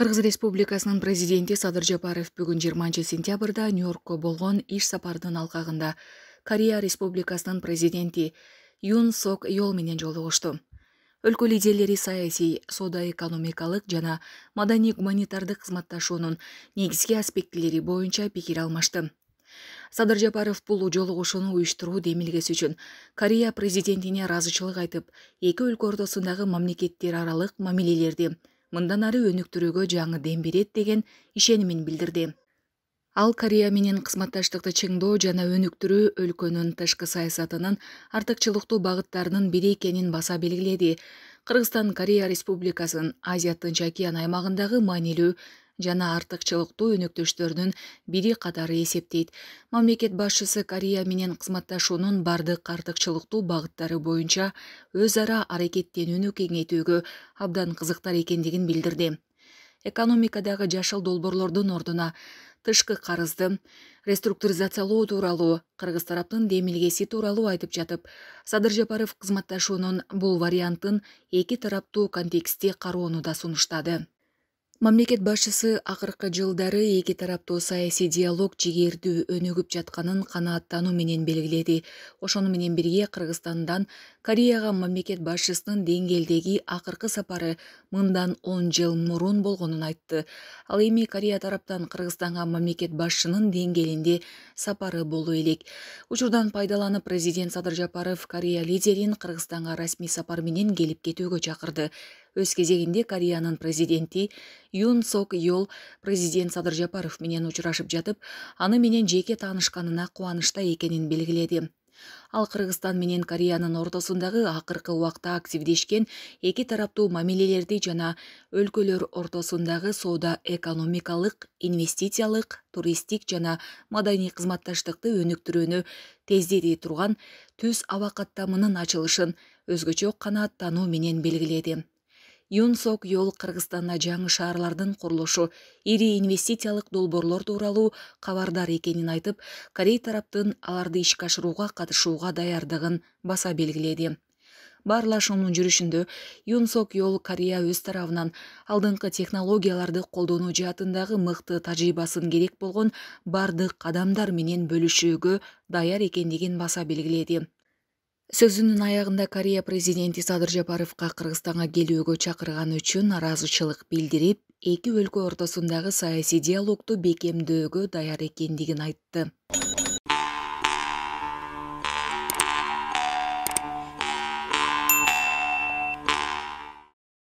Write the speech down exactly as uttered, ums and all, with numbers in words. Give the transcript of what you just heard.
Кыргыз Республикасынын президенти Садыр Жапаров бүгүн жыйырманчы сентябрда Нью-Йоркко болгон иш сапарынын алкагында Корея Республикасынын президенти Юн Сок Йол менен жолугушту. Өлкө лидерлери саясий, соода-экономикалык жана маданий-гуманитардык кызматташуунун негизги аспектилери боюнча пикир алмашты. Садыр Жапаров бул жолугушууну уюштуруу демилгеси үчүн Корея президентине ыраазычылык айтып, эки өлкө ортосундагы мамлекеттер аралык мамилелерди мындан ары өнүктүрүүгө жаңы дем берет деген ишенимин билдирди. Ал Корея менен кызматташтыкты чыңдоо жана өнүктүрүү өлкөнүн тышкы саясатынын артыкчылыктуу багыттарынын бири экенин баса белгиледи. Кыргызстан Корея Республикасын Азия Тынч океан аймагындагы маанилүү жана артыкчылыктуу өнөктөштөрүнүн бири катары эсептейт. Мамлекет башчысы Корея менен кызматташуунун бардык артыкчылыктуу багыттары боюнча өз ара аракеттенүүнү кеңейтүүгө абдан кызыктар экендигин билдирди. Экономикадагы жашыл долбоорлордун ордуна тышкы карызды реструктуризациялоо тууралуу кыргыз тараптын демилгеси тууралуу айтып жатып, Садыр Жапаров кызматташуунун бул вариантын эки тараптуу контекстте кароону да сунуштады. Мамлекет башчысы акыркы жылдары эки тараптуу саясий диалог жигердүү өнүгүп жатканын канааттануу менен белгиледи. Ошону менен бирге Кыргызстандан Кореяга мамлекет башчысынын деңгээлдеги акыркы сапары мындан он жыл мурун болгонун айтты. Ал эми Корея тараптан Кыргызстанга мамлекет башчынын деңгээлинде сапары болуу элек. Учурдан пайдаланып, президент Садыр Жапаров Корея лидерин Кыргызстанга расмий сапар менен келип кетүүгө чакырды. Өз кезегинде Кореянын президенти Юн Сок Йол президент Садыр Жапаров менен учурашып жатып, аны менен жеке таанышканына кубанычта экенин белгиледи. Ал Кыргызстан менен Кореянын ортосундагы акыркы убакта активдешкен эки тараптуу мамилелерди жана өлкөлөр ортосундагы соода-экономикалык, инвестициялык, туристтик жана маданий кызматташтыкты өнүктүрүүнү тездете турган түз аба каттамынын ачылышын өзгөчө канааттануу менен белгиледи. Юн Сок Йол Кыргызстанда жаңы шаарлардын курулушу, ири инвестициялык долбоорлор тууралуу кабардар экенин айтып, Корей тараптын аларды ишке ашырууга катышууга даярдыгын баса белгиледи. Баарлашуунун жүрүшүндө Юн Сок Йол Корея өз тарабынан алдыңкы технологияларды колдонуу жаатындагы мыкты тажрыйбасын керек болгон бардык кадамдар менен бөлүшүүгө даяр экендигин баса белгиледи. Сөзүнүн аягында Корея президенти Садыр Жапаровго Кыргызстанга келүүгө чакырганы үчүн ыраазычылык билдирип, эки өлкө ортосундагы саясий диалогду бекемдөөгө даяр экендигин айтты.